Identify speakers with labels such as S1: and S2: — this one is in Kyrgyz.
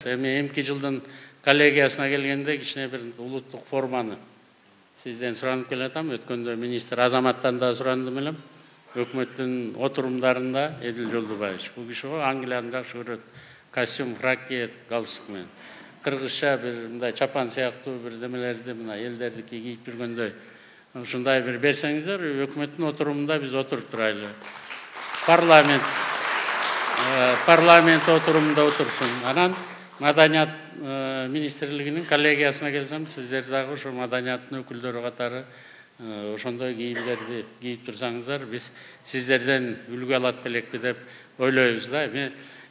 S1: Эми эмки жылдын коллегиясына келгенде кичине бир улуттук форманы сизден суранып келатам. Өткөндө министр Азаматтан да сурандым элем. Өкмөттүн отурумдарында Эдил Жолдубаевич бул киши Англияны жакшы көрөт. Костюм, фрак кийет, галстук менен. Кыргызча бир мындай чапан сыяктуу бир демелерди мына элдердики кийип жүргөндөй ушундай бир берсеңиздер, өкмөттүн отурумунда биз отуруп турайлы. Парламент отурумунда отурсун. Анан Маданият министрлигинин коллегиясына келсем, сиздер дагы ошо маданияттын өкүлдөрү катары ошондой кийимдерди кийип турсаңыздар, биз сиздерден үлгү алат белекпи деп ойлойбуз да.